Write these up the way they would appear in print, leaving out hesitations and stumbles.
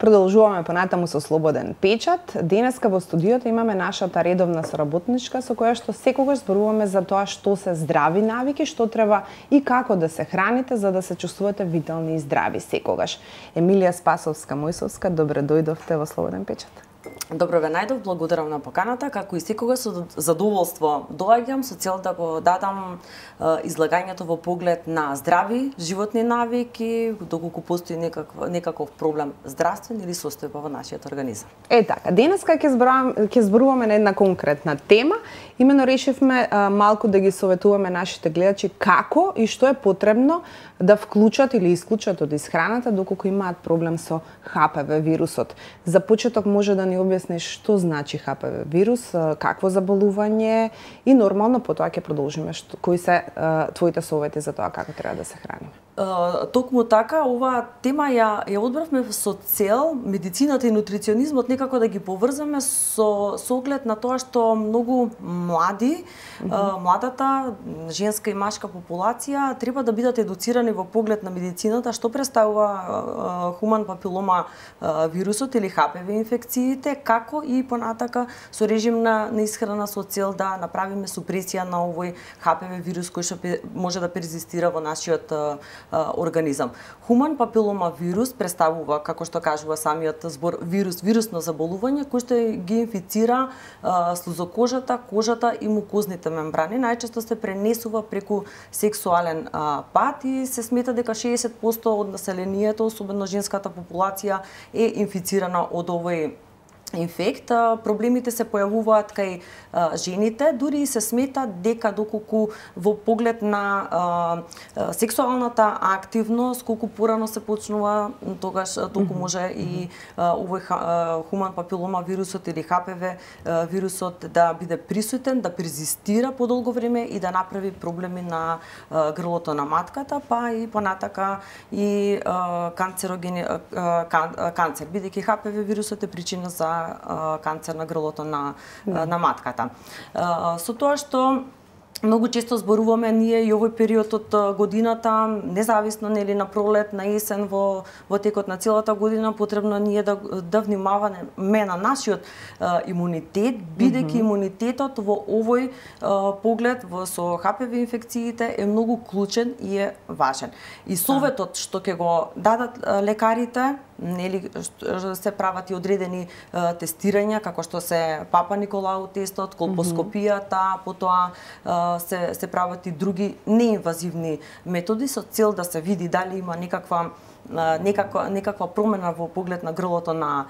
Продолжуваме понатаму со Слободен печат. Денеска во студиото имаме нашата редовна соработничка со која што секогаш зборуваме за тоа што се здрави навики, што треба и како да се храните за да се чувствувате витални и здрави секогаш. Емилија Спасовска-Мојсовска, добре дојдовте во Слободен печат. Добро ве најдов, благодарам на поканата, како и секогаш со задоволство доаѓам со цел да го дадам излагањето во поглед на здрави животни навики, доколку постои некаков проблем здравствен или состојба во нашиот организам. Така, денеска ќе зборуваме на една конкретна тема. Имено решивме малку да ги советуваме нашите гледачи како и што е потребно да вклучат или исклучат од исхраната доколку имаат проблем со ХПВ вирусот. За почеток може да ни објасниш што значи ХПВ вирус, какво заболување и нормално потоа ќе продолжиме кои се твоите совети за тоа како треба да се храниме. Токму така, оваа тема ја одбравме со цел медицината и нутриционизмот некако да ги поврзаме со оглед на тоа што многу млади, младата женска и машка популација треба да бидат едуцирани во поглед на медицината, што представува хуман папилома вирусот или ХПВ инфекциите, како и понатака со режим на исхрана со цел да направиме супресија на овој ХПВ вирус кој што може да перзистира во нашиот организам. Хуман папилома вирус представува, како што кажува самиот збор, вирусно заболување кој што ги инфицира слузокожата, кожата и мукозните мембрани. Најчесто се пренесува преку сексуален пат и се смета дека 60% од населението, особено женската популација, е инфицирана од овој инфект. Проблемите се појавуваат кај жените, дури и се смета дека доколку во поглед на сексуалната активност, колку порано се почнува, тогаш толку може и овој хуман папилома вирусот или ХПВ вирусот да биде присутен, да перзистира подолго време и да направи проблеми на грлото на матката, па и понатака и канцер, бидејќи ХПВ вирусот е причина за канцер на грлото на матката. Со тоа што многу често зборуваме ние и овој период од годината, независно нели на пролет, на есен, во текот на целата година потребно ние да внимаваме на нашиот имунитет, бидејќи имунитетот во овој поглед со ХПВ инфекциите е многу клучен и е важен. И советот што ќе го дадат лекарите, нели се прават и одредени тестирања како што се Папа Николау тестот, колпоскопијата, потоа се прават и други неинвазивни методи со цел да се види дали има некаква промена во поглед на грлото на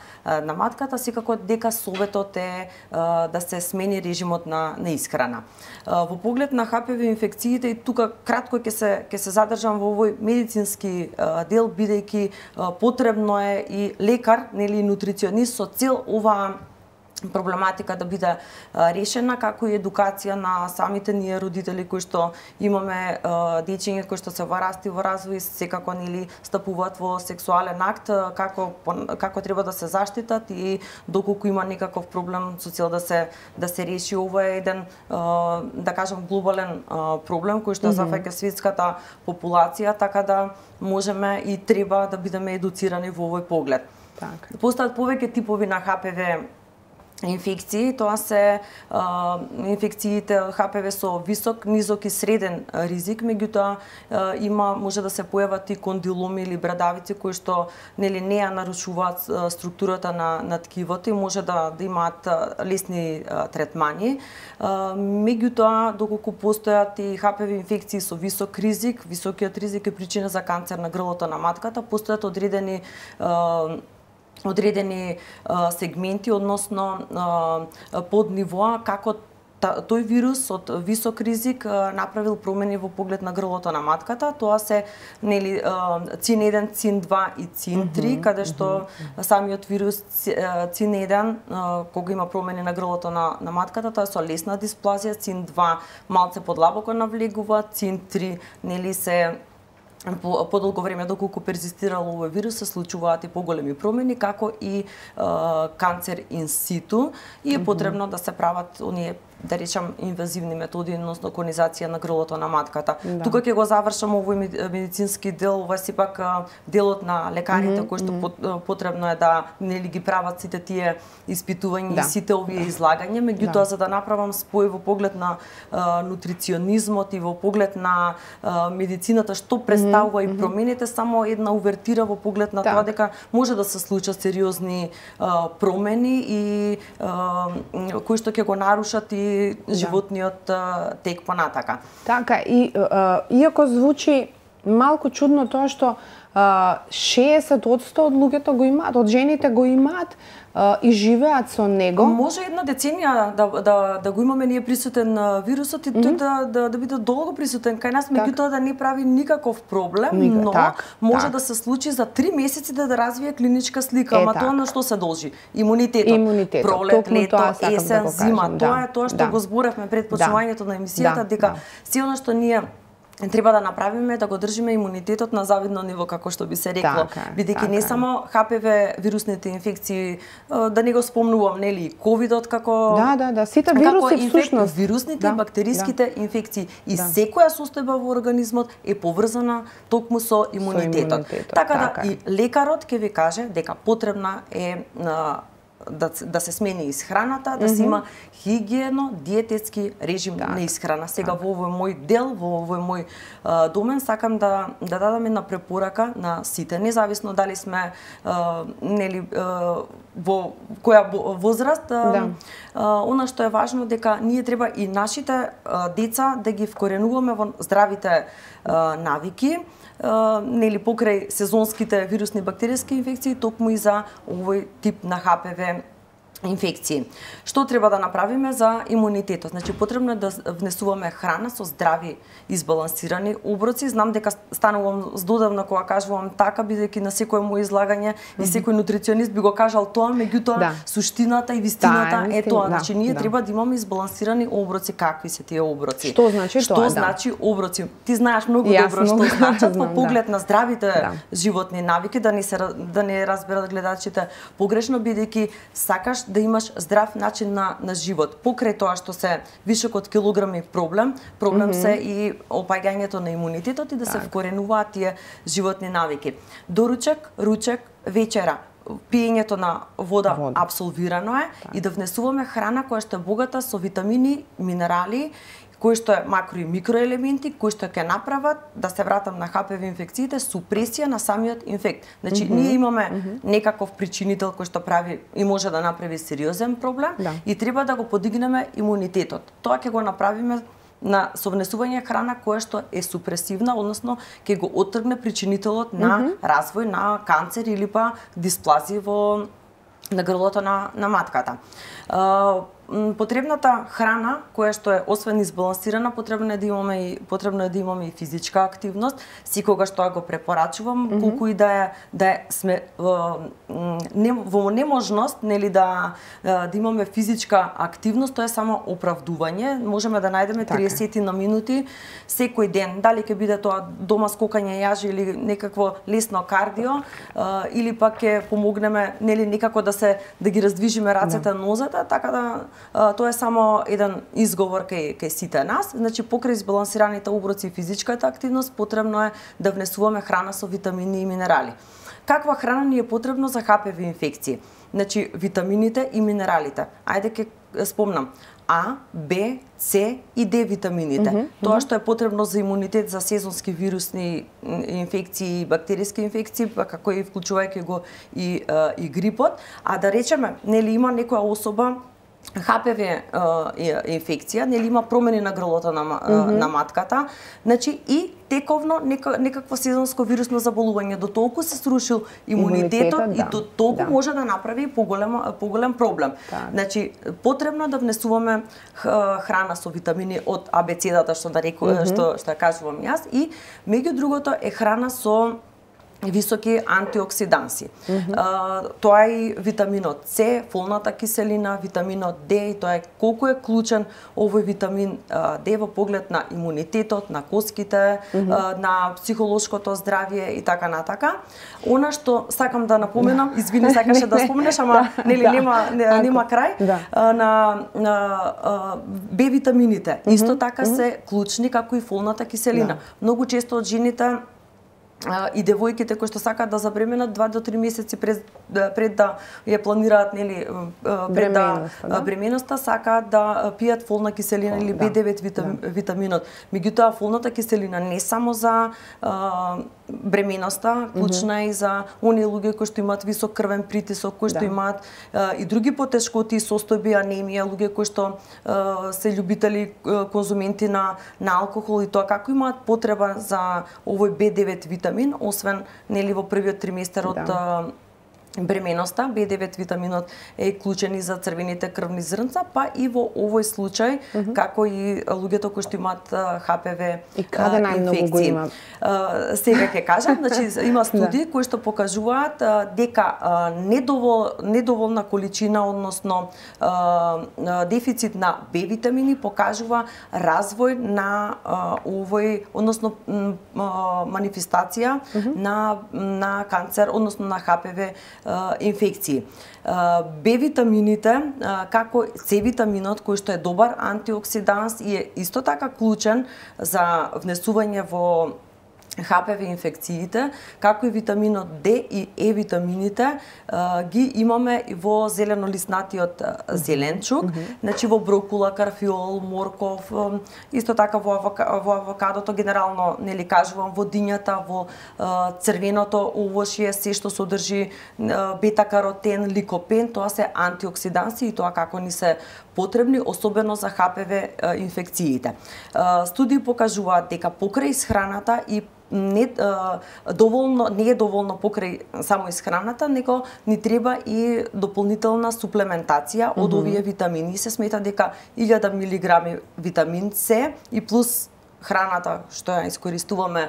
матката, секако дека советот е да се смени режимот на исхрана. Во поглед на ХПВ инфекциите и тука кратко ќе се задржам во овој медицински дел, бидејќи потребно е и лекар, нели нутриционист со цел оваа проблематика да биде решена, како и едукација на самите ние родители кои што имаме дечиња кои што се во раст и во развој, секако нели стапуваат во сексуален акт, како треба да се заштитат и доколку има некаков проблем со цел да се реши. Ова е еден да кажам глобален проблем кој што зафаќа светската популација, така да можеме и треба да бидеме едуцирани во овој поглед. Постојат повеќе типови на ХПВ инфекции, тоа се инфекциите ХПВ со висок, низок и среден ризик, меѓутоа може да се појават и кондиломи или брадавици кои што нели не ја нарушуваат структурата на ткивото и може да имаат лесни третмани. Меѓутоа, доколку постојат и ХПВ инфекции со висок ризик, високиот ризик е причина за канцер на грлото на матката, постојат одредени сегменти, односно поднивоа, како тој вирус од висок ризик направил промени во поглед на грлото на матката. Тоа се нели ЦИН-1, ЦИН-2 и ЦИН-3, каде што самиот вирус ЦИН-1 кога има промени на грлото на матката, тоа е со лесна дисплазија, ЦИН-2 малце подлабоко навлегува, ЦИН-3 нели се подолго време доколку перзистирал овој вирус се случуваат и поголеми промени, како и канцер ин ситу и е потребно да се прават оние да речам инвазивни методи, односно конизација на грлото на матката. Тука ќе го завршам овој медицински дел, ова сепак делот на лекарите кој што потребно е да нели ги прават сите тие испитувања и сите овие излагања, меѓутоа за да направам спој во поглед на нутриционизмот и во поглед на медицината што представува и промените, само една увертира во поглед на тоа дека може да се случат сериозни промени и кои што ќе го нарушат и животниот тек понатака. Така, и иако звучи малку чудно тоа што 60% од луѓето го имаат, од жените го имаат и живеат со него. Може една деценија да го имаме ние присутен вирусот и тој да биде долго присутен кај нас, меѓутоа да не прави никаков проблем, но може да се случи за 3 месеци да развие клиничка слика, ама тоа на што се должи? Имунитетот. Пролет, лето, есен, зима, тоа е тоа што го зборевме пред почнувањето на емисијата, дека се она што ние треба да направиме да го држиме имунитетот на завидно ниво, како што би се рекло, бидејќи не само ХПВ вирусните инфекции, да не го спомнувам, нели, ковидот како сите вируси всушност, вирусните и бактериските инфекции и секоја состојба во организмот е поврзана токму со имунитетот. Така да и лекарот ќе ви каже дека потребна е да се смени исхраната, да се има хигиено, диететски режим на исхрана. Сега во овој мој дел, во овој мој домен, сакам да дадам една препорака на сите, независно дали сме нели во која возраст. Она што е важно дека ние треба и нашите деца да ги вкоренуваме во здравите навики, нели покрај сезонските вирусни бактериски инфекции, токму и за овој тип на ХПВ инфекции. Што треба да направиме за имунитетот? Значи потребно е да внесуваме храна со здрави, избалансирани оброци. Знам дека станувам здодевна кога кажувам така, бидејќи на секое мој излагање и секој нутриционист би го кажал тоа, меѓутоа суштината и вистината е тоа. Значи ние треба да имаме избалансирани оброци. Какви се тие оброци? Што значи тоа? Што значи оброци? Ти знаеш многу добро што значат во поглед на здравите животни навики, да не разберат гледачите погрешно, бидејќи сакаш да имаш здрав начин на живот. Покрај тоа што се вишок од килограми проблем се и опаѓањето на имунитетот и да се вкоренуваат тие животни навики. Доручек, ручек, вечера, пиењето на вода апсолвирано е и да внесуваме храна која што е богата со витамини, минерали, кои што е макро и микроелементи, кои што ќе направат, да се вратам на ХПВ инфекциите, супресија на самиот инфект. Значи, ние имаме некаков причинител кој што прави и може да направи сериозен проблем и треба да го подигнеме имунитетот. Тоа ќе го направиме со внесување храна која што е супресивна, односно ќе го оттргне причинителот на развој на канцер или па дисплазија на грлото на матката. Потребната храна која што е освен избалансирана, потребно е да имаме и физичка активност. Секогаш тоа го препорачувам, колку и да сме во неможност, нели да имаме физичка активност, тоа е само оправдување. Можеме да најдеме 30 на минути секој ден, дали ќе биде тоа дома скокање јажи или некакво лесно кардио, или пак ќе помогнеме нели некако да ги раздвижиме рацете, нозете, така да тоа е само еден изговор кај сите нас. Значи, покрај избалансираните оброци и физичката активност, потребно е да внесуваме храна со витамини и минерали. Каква храна ни е потребно за ХПВ инфекции? Значи, витамините и минералите. Ајде ќе спомнам. А, Б, С и Д витамините. Тоа што е потребно за имунитет за сезонски вирусни инфекции и бактериски инфекции, како и вклучувајќи го и грипот. А да речеме, нели има некоја особа ХПВ инфекција, нели има промени на грлото на матката, значи и тековно некакво сезонско вирусно заболување, до толку се срушил имунитетот и до толку може да направи поголем проблем. Значи потребно да внесуваме храна со витамини од абецедата што кажувам јас, и меѓу другото е храна со високи антиоксиданси. Тоа е и витаминот С, фолната киселина, витаминот Д, и тоа е колку е клучен овој витамин Д во поглед на имунитетот, на коските, на психолошкото здравје и така натака. Она што сакам да напоменам, извини, сакаше да споменеш, ама нели нема крај, на Б витамините. Исто така се клучни како и фолната киселина. Многу често од жените и девојките кои што сакаат да забременат 2 до 3 месеци пред да ја планираат, нели, пред бременоста, сакаат да пијат фолна киселина или B9 витаминот. Меѓутоа фолната киселина не само за бременоста, клучна е и за оние луѓе кои што имаат висок крвен притисок, кои што имаат и други потешкоти, состојби, анемија, луѓе кои што се љубители конзументи на алкохол и тоа како имаат потреба за овој B9 витамин, освен нели во првиот триместер од бременоста. B9 витаминот е клучен и за црвените крвни зрнца, па и во овој случај, како и луѓето кои што имаат ХПВ и каде најмногу го има? Сега ќе кажам, значи има студии кои што покажуваат дека недоволна количина, односно дефицит на Б витамини покажува развој на овој, односно манифестација на канцер, односно на ХПВ инфекции. Б витамините, како С витаминот, кој што е добар антиоксиданс и е исто така клучен за внесување во ХПВ инфекциите, како и витаминот Д и Е витамините, ги имаме во зеленолиснатиот зеленчук, значи во брокула, карфиол, морков, исто така во авокадото, генерално нели кажувам, во дињата, во црвеното овошје, се што содржи бета-каротен, ликопен, тоа се антиоксиданси и тоа како ни се потребни, особено за ХПВ инфекциите. Студии покажуваат дека покрај исхраната и не е доволно покрај само исхраната, него ни треба и дополнителна суплементација од овие витамини. Се смета дека 1000 милиграми витамин С и плюс храната што ја искористуваме,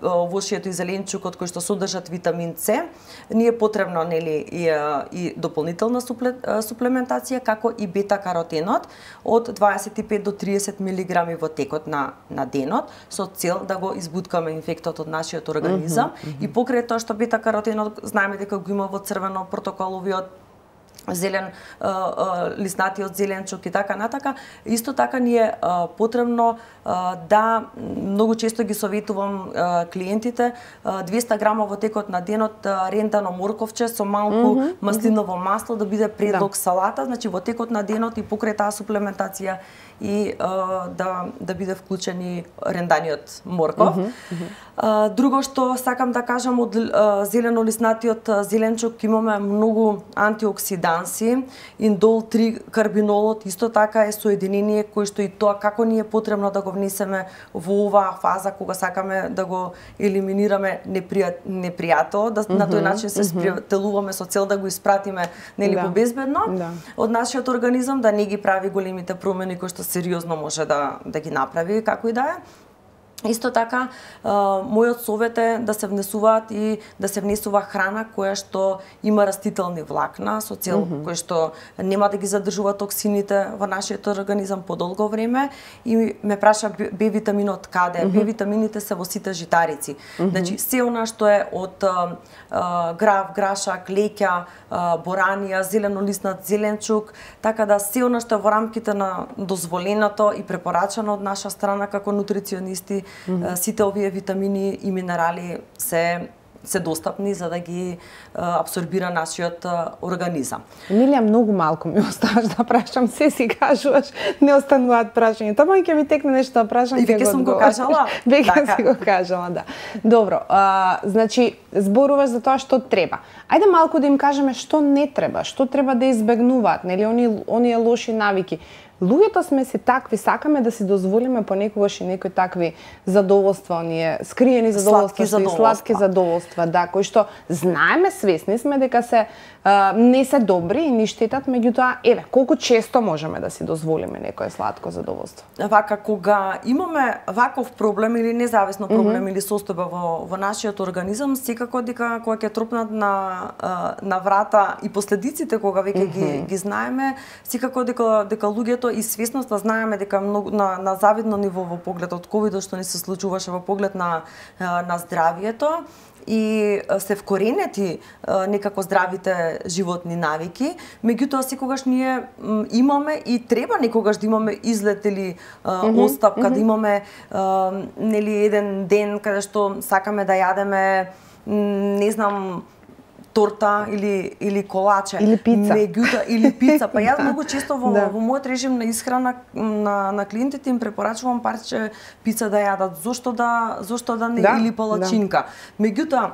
овошјето и зеленчукот кој што содржат витамин С, ни е потребно нели и дополнителна суплементација, како и бета-каротенот од 25 до 30 милиграми во текот на денот, со цел да го избуткаме инфектот од нашиот организам. И покрај тоа што бета-каротенот знаеме дека го има во црвено протоколовиот зелен лиснатиот зеленчук и така натака, исто така ни е потребно да многу често ги советувам клиентите 200 грама во текот на денот рентано морковче со малку маслиново масло да биде предлог салата, значи во текот на денот и покрај таа суплементација и да биде вклучен и ренданиот морков. Друго што сакам да кажам, од зеленолиснатиот зеленчук имаме многу антиоксиданси, индол 3 карбинолот исто така е соединение кој што и тоа како ни е потребно да го внесеме во оваа фаза кога сакаме да го елиминираме непријато, на тој начин се спријателуваме со цел да го испратиме нели побезбедно од нашиот организам, да не ги прави големите промени кои што сериозно може да ги направи, како и да е. Исто така, мојот совет е да се внесуваат и да се внесува храна која што има растителни влакна, со цел кој што нема да ги задржува токсините во нашиот организам подолго време. И ме праша Б витаминот каде? Б витамините се во сите житарици. Значи, се она што е од грав, грашак, леќа, боранија, зеленолиснат зеленчук, така да се она што е во рамките на дозволеното и препорачано од наша страна како нутриционисти, сите овие витамини и минерали се достапни за да ги абсорбира нашиот организам. Емилија, многу малку ми оставаш да прашам, се си кажуваш, не остануваат прашања. Тоа ќе ми текне нешто да прашам, ќе го сум го кажала. Веќе си го кажала, да. Добро, значи зборуваш за тоа што треба. Ајде малку да им кажеме што не треба, што треба да избегнуваат, нели оние лоши навики. луѓето сме си такви, сакаме да си дозволиме понекогаш и некои такви задоволства, оние скриени задоволства, сладки задоволства, да, кои што знаеме, свесни сме дека се не се добри и ни штетат, меѓутоа, еве, колку често можеме да си дозволиме некое сладко задоволство? Вака, кога имаме ваков проблем или независно проблем или состојба во нашиот организам, секако дека кога ќе тропнат на врата и последиците кога веќе ги знаеме, секако дека луѓето и свесноста знаеме дека многу на завидно ниво во поглед од ковидот што ни се случуваше во поглед на здравието и се вкоренети некако здравите животни навики, меѓутоа секогаш ние имаме и треба некогаш да имаме излет или остапка, да имаме нели еден ден каде што сакаме да јадеме не знам торта или колаче или пица. Или пица. Па јас многу често во мојот режим на исхрана на клиентите им препорачувам парче пица да јадат. Зошто да не или палачинка. Меѓутоа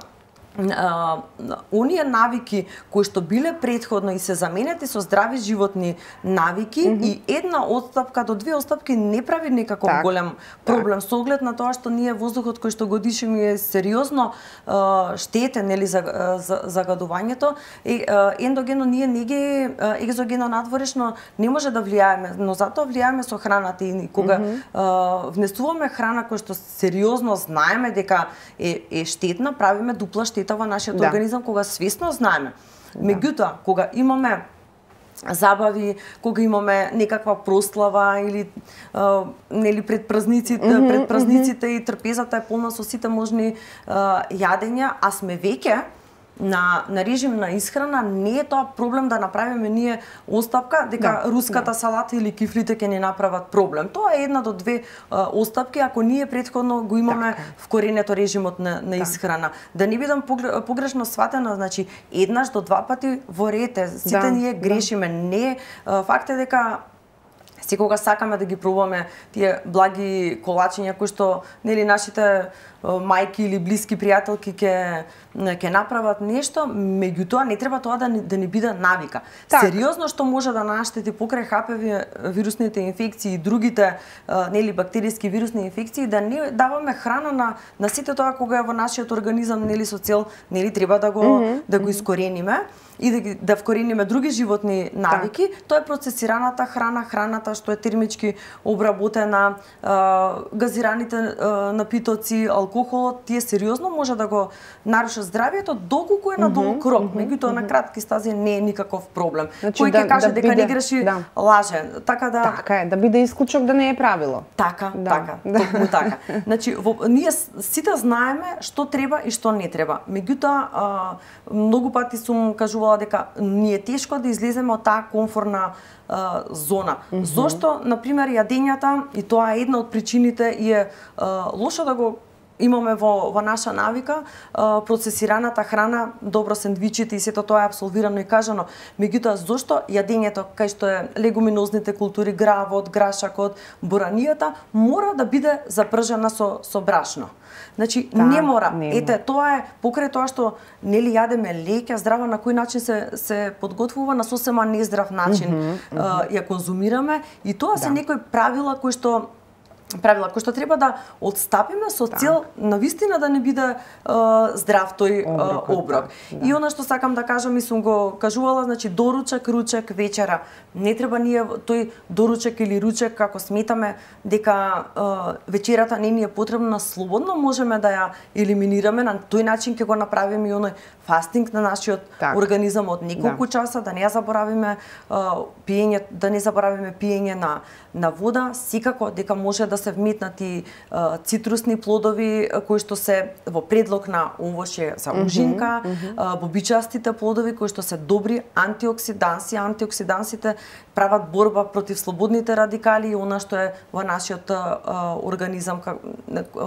оние навики кои што биле претходно и се заменети со здрави животни навики и една отстапка до две отстапки не прави некаков голем проблем со оглед на тоа што ние воздухот кој што го дишеме е сериозно штетен или загадувањето ендогено ние не ги екзогено надворешно не може да влијаеме, но затоа влијаеме со храната и кога внесуваме храна која што сериозно знаеме дека е штетна, правиме дупла штета во нашиот организам кога свесно знаеме. Меѓутоа, кога имаме забави, кога имаме некаква прослава или нели пред празниците и трпезата е полна со сите можни јадења, а сме веќе на режим на исхрана, не е тоа проблем да направиме ние остапка дека руската салата или кифлите ќе ни направат проблем. Тоа е една до две остапки ако ние претходно го имаме вкоренето режимот на исхрана. Да не бидам погрешно сватена, значи еднаш до два пати во ред, сите ние грешиме. Не, факт е дека секогаш сакаме да ги пробуваме тие благи колачиња кои што нели нашите мајки или блиски пријателки ќе направат нешто, меѓутоа не треба тоа да ни биде навика. Сериозно што може да наштети покрај HPV вирусните инфекции и другите нели бактериски вирусни инфекции, да не даваме храна на сите тоа кога е во нашиот организам нели со цел нели треба да го искорениме и да вкорениме други животни навики. Тоа е процесираната храна, храната што е термички обработена, газираните напитоци, алкохолот, тие сериозно може да го нарушат здравието доколку е на долг рок. Меѓутоа на кратки стази не е никаков проблем. Кој ќе каже дека не греши, лаже. Така е, да биде исклучок, да не е правило. Така, токму така. Значи ние сите знаеме што треба и што не треба. Меѓутоа многу пати сум кажувала дека ни е тешко да излеземе од таа комфортна зона. Зошто, например, јадењата, и тоа е една од причините, и е лошо да го имаме во наша навика, процесираната храна, добро сендвичите и сето тоа е апсолвирано и кажано. Меѓутоа, зошто јадењето кај што е легуминозните култури, гравот, грашакот, буранијата, мора да биде запржена со брашно. Значи, не мора. Ете, тоа е покрај тоа што нели јадеме леќа, здраво, на кој начин се подготвува, на сосема нездрав начин ја конзумираме, и тоа се некои правила кои што треба да отстапиме со цел навистина да не биде здрав тој оброк. И она што сакам да кажам и сум го кажувала, значи доручек, ручек, вечера. Не треба ние тој доручек или ручек, како сметаме дека вечерата не ни е потребна, слободно можеме да ја елиминираме, на тој начин ќе го направиме и оној фастинг на нашиот организам од неколку часа, да не заборавиме пиење, пиење на вода, секако дека може да се вметнати цитрусни плодови кои што се во предлог на овошје за ужинка, бобичастите плодови кои што се добри антиоксиданси. Антиоксидансите прават борба против слободните радикали и она што е во нашиот организам,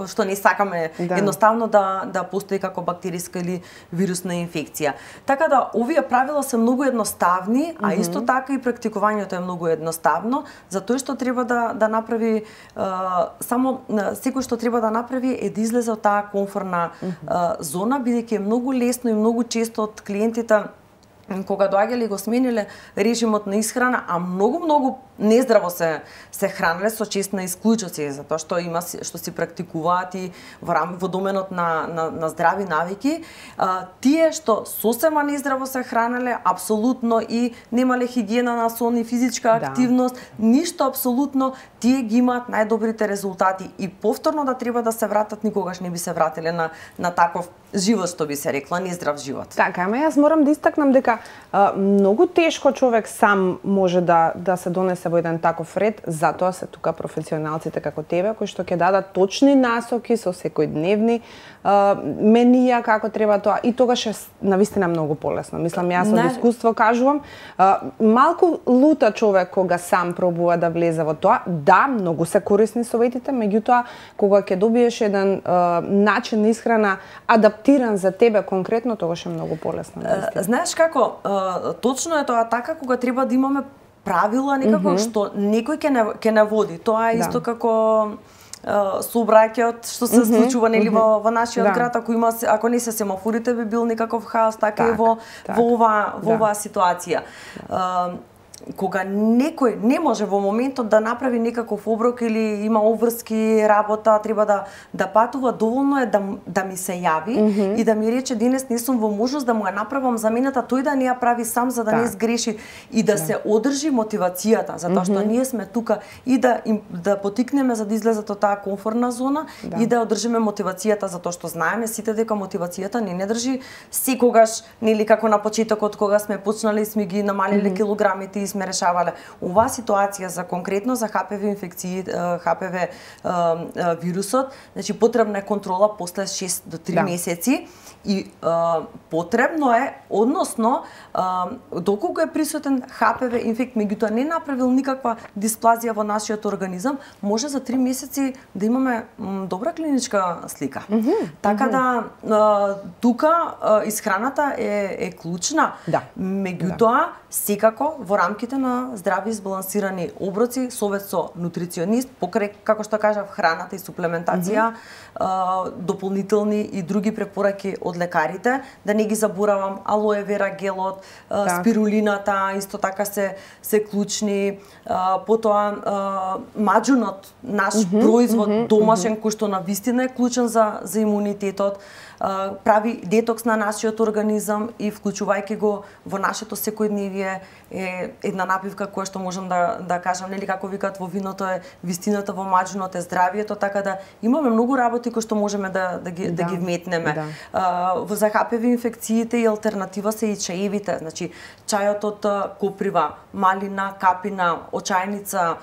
што не сакаме едноставно да постои како бактериска или вирусна инфекција. Така да, овие правила се многу едноставни, а исто така и практикувањето е многу едноставно, затоа што треба да направи само секој што треба да направи е да излезе од таа комфортна зона, бидејќи е многу лесно и многу често од клиентите кога доаѓале и го смениле режимот на исхрана, а многу нездраво се хранеле со честна исклучоци, затоа што има што си практикуваат и во доменот на здрави навики, тие што сосема нездраво се хранеле, апсолутно и немале хигиена на сон и физичка активност, ништо апсолутно, тие ги имаат најдобрите резултати и повторно да треба да се вратат, никогаш не би се вратиле на таков живот, што би се рекла, нездрав живот. Така, ама јас морам да истакнам дека многу тешко човек сам може да се донесе во еден таков ред, затоа се тука професионалците како тебе, кои што ќе дадат точни насоки со секојдневни менија како треба тоа, и тогаш е навистина многу полесно. Мислам, јас од искуство кажувам, малку лута човек кога сам пробува да влезе во тоа. Да, многу се корисни советите, меѓутоа кога ќе добиеш еден начин на исхрана адаптиран за тебе конкретно, тогаш е многу полесно. Знаеш како, точно е тоа така, кога треба да имаме правила некако што некој ќе не води. Тоа е исто како сообраќајот што се случува нели во нашиот град, ако не се семафорите би бил некаков хаос, така и во оваа ситуација. Кога некој не може во моментот да направи некаков оброк или има обврски работа, треба да патува, доволно е да ми се јави и да ми рече денес не сум во можност да му ја направам замената, тој да не ја прави сам за да не сгреши и да се одржи мотивацијата, затоа што ние сме тука и да потикнеме за да излезат од таа комфортна зона и да одржиме мотивацијата, затоа што знаеме сите дека мотивацијата не држи секогаш, нели како на почетокот кога сме почнале и сме ги намалиле килограмите и сме решавале. Оваа ситуација за конкретно за HPV инфекции, HPV вирусот, значи потребна е контрола после 6 до 3 месеци и потребно е, односно доколку е присутен HPV инфект, меѓутоа не направил никаква дисплазија во нашиот организам, може за 3 месеци да имаме добра клиничка слика. Така да тука исхраната е клучна. Меѓутоа секако во рамките на здрави избалансирани оброци, совет со нутриционист, покрај како што кажав храната и суплементација, дополнителни и други препораки од лекарите, да не ги заборавам алоe вера гелот, спирулината исто така се клучни, потоа маџунот, наш производ домашен кој што навистина е клучен за имунитетот, прави детокс на нашиот организам и вклучувајќи го во нашето секојдневие е една напивка која што можам да кажам, нели како викаат во виното е вистината, во маџунот е здравието, така да имаме многу работи кои што можеме да ги вметнеме. За HPV инфекциите и алтернатива се и чаевите, значи чајот од коприва, малина, капина, очајница,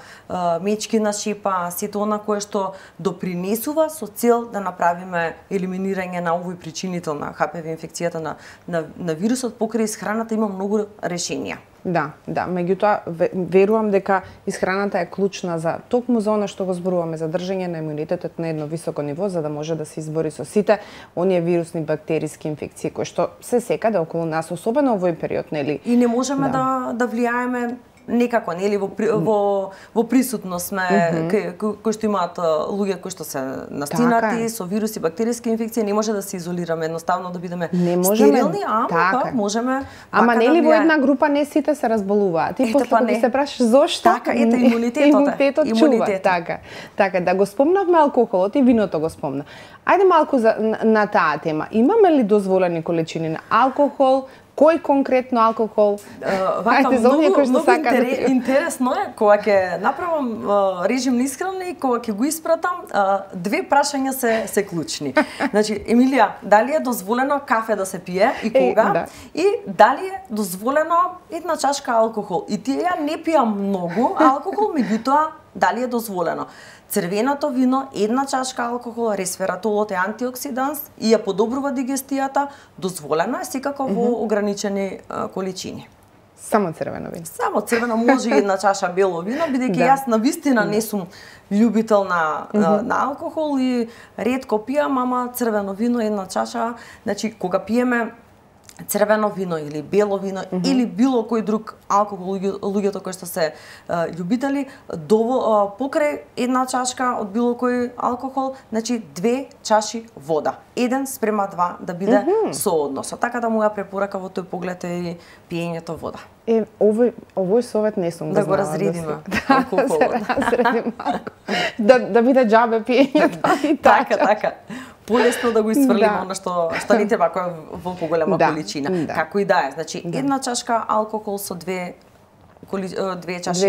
мечкина шепа, сето она кое што допринесува со цел да направиме елиминирање на овој причинител на HPV инфекцијата на вирусот. Покрај исхраната има многу решенија. Да, меѓутоа верувам дека исхраната е клучна за токму за она што го зборуваме, за држање на имунитетот на едно високо ниво, за да може да се избори со сите оние вирусни, бактериски инфекции кои што се секаде околу нас, особено во овој период, нели? И не можеме да влијаеме некако, нели, во присутност сме кои што имаат луѓе кои што се настинати со вируси, бактериски инфекции, не може да се изолираме, едноставно да бидеме стерилни, ама можеме. Ама нели во една група не сите се разболуваат. И после кога се прашаш зошто? Така, ете имунитетот чува. Така, да го спомнавме алкохолот и виното го спомна. Ајде малку на таа тема. Имаме ли дозволени количини на алкохол? Кој конкретно алкохол? Многу интересно е, кога ќе направам режим на исхрана и кога ќе го испратам, две прашања се клучни. Значи, Емилија, дали е дозволено кафе да се пие и кога? И дали е дозволено една чашка алкохол? И тие ја не пијам многу алкохол, меѓутоа дали е дозволено? Црвеното вино, една чашка алкохол, ресвератолот е антиоксиданс и ја подобрува дигестијата, дозволено е секако во ограничени количини. Само црвено вино? Само црвено, може и една чаша бело вино, бидејќи јас навистина не сум љубител на алкохол и ретко пијам, ама црвено вино една чаша, значи кога пиеме црвено вино или бело вино или било кој друг алкохол, луѓето кои што се љубители, покрај една чашка од било кој алкохол, значи 2 чаши вода. 1:2 да биде соодносот. Така да моја препорака во тој поглед е и пиењето вода. Овој совет не сум да го разредиме алкохолот. Да биде џабе пиењето. Така. Полесно да го исфрлиме она што не треба во поголема количина. Како и да е. Значи една чашка алкохол со 2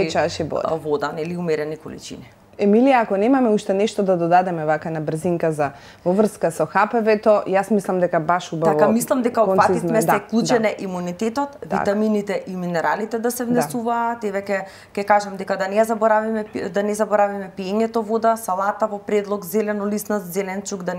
чаши вода, нели умерени количини. Емилија, ако немаме уште нешто да додадеме вака на брзинка за во врска со ХПВ-то, јас мислам дека баш убаво. Така, мислам дека опфативме се клучене имунитетот, витамините и минералите да се внесуваат, и веќе ќе кажам дека да не заборавиме пиењето вода, салата во предлог, зелено лиснат зеленчук, да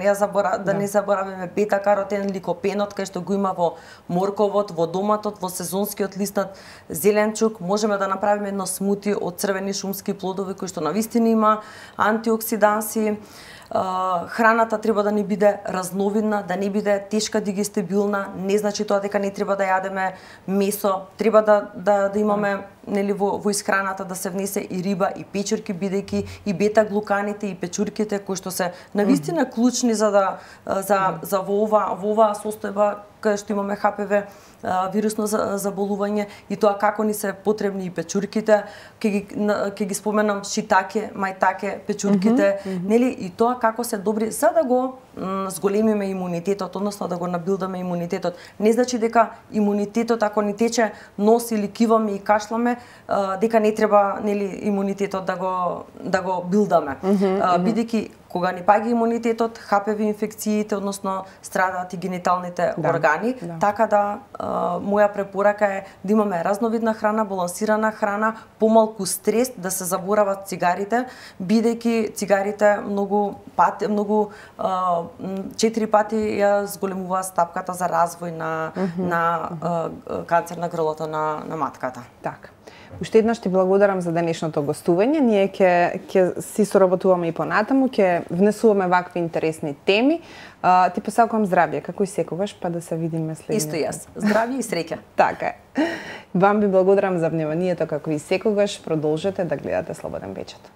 не заборавиме бета-каротен, ликопенот кај што го има во морковот, во доматот, во сезонскиот лиснат зеленчук. Можеме да направиме едно смути од црвени шумски плодови кои што навистина има антиоксиданси. Храната треба да ни биде разновидна, да не биде тешка дигестибилна, не значи тоа дека не треба да јадеме месо, треба да имаме нели во исхраната да се внесе и риба и печурки, бидејќи и бета-глуканите и печурките кои што се навистина клучни за во оваа состојба кај што имаме ХПВ вирусно заболување, и тоа како ни се потребни и печурките, ќе ги споменам шитаке, мајтаке, печурките, нели, и тоа како се добри за да го зголемиме имунитетот, односно да го набилдаме имунитетот. Не значи дека имунитетот ако ни тече нос или киваме и кашламе, дека не треба нели имунитетот да го билдаме. Бидејќи кога ни паѓа имунитетот, ХПВ инфекциите, односно страдаат и гениталните органи, така да моја препорака е да имаме разновидна храна, балансирана храна, помалку стрес, да се заборават цигарите, бидејќи цигарите многу 4 пати ја зголемуваат стапката за развој на канцер на грлото на матката. Така. Уште еднаш ти благодарам за денешното гостување. Ние ќе си соработуваме и понатаму, ќе внесуваме вакви интересни теми. Ти посакувам здравје, како и секогаш, па да се видиме следниот. Исто јас. Здравје и среќа. Така е. Вам ви благодарам за вниманието, како и секогаш. Продолжете да гледате Слободен печат.